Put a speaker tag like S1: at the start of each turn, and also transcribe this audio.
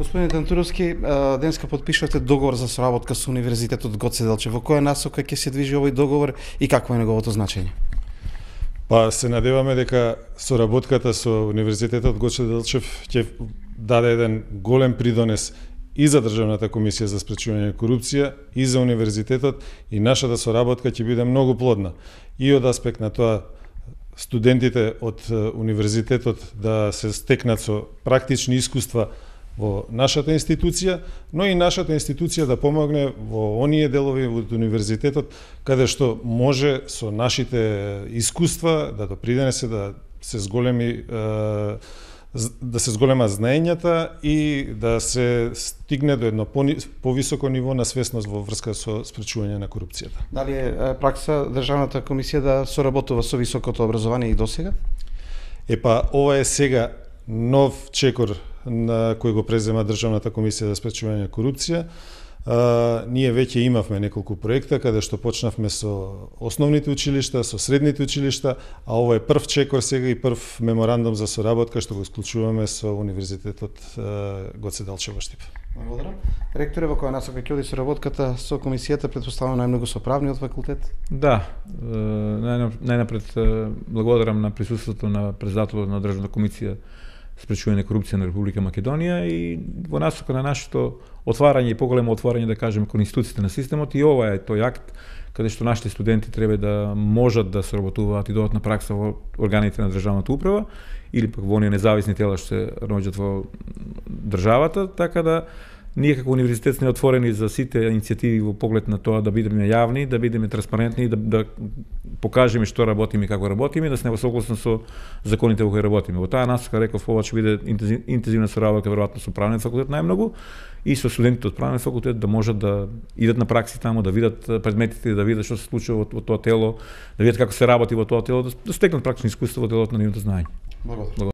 S1: Господин Тантуровски, денеска подпишувате договор за соработка со Универзитетот Гоце Делчев. Во која насока ќе се движи овој договор и какво е неговото значење?
S2: Па се надеваме дека соработката со Универзитетот Гоце Делчев ќе даде еден голем придонес и за Државната комисија за спречување на корупција, и за универзитетот, и нашата соработка ќе биде многу плодна. И од аспект на тоа студентите од универзитетот да се стекнат со практични искуства во нашата институција, но и нашата институција да помогне во оние делови од универзитетот каде што може со нашите искуства да допринесе да се зголеми знаењата и да се стигне до едно повисоко ниво на свесност во врска со спречување на корупцијата.
S1: Дали е пракса Државната комисија да соработува со високото образование и досега?
S2: Епа, ова е сега нов чекор на кој го презема Државната комисија за спречување на корупција. Ние веќе имавме неколку проекта каде што почнавме со основните училишта, со средните училишта, а ова е прв чекор сега и прв меморандум за соработка што го исклучуваме со Универзитетот Гоце Делчев во Штип.
S1: Благодарам. Ректоре, во која насока ќе оди соработката со комисијата, претпоставувам најмногу со правниот факултет?
S3: Да, најнапред благодарам на присуството на председателот на Државната комисија спречување на корупција на Република Македонија и во насока на нашето отварање и поголемо отварање, да кажеме, кон институциите на системот, и ова е тој акт каде што нашите студенти треба да можат да соработуваат и додат на пракса во органите на државната управа или пак во оние независни тела што се наоѓаат во државата, така да ние како универзитет сме отворени за сите иницијативи во поглед на тоа да бидеме јавни, да бидеме транспарентни, да покажеме што работиме и како работиме, да сме согласни со законите во кои работиме. Во таа насока, реков, ова ќе биде интензивна соработка веројатно со правниот факултет најмногу и со студентите од правниот факултет да можат да идат на пракси таму, да видат предметите, да видат што се случува во тоа тело, да видат како се работи во тоа тело, да стекнат практични искуства во делот на нивното знаење.
S1: Благодарам.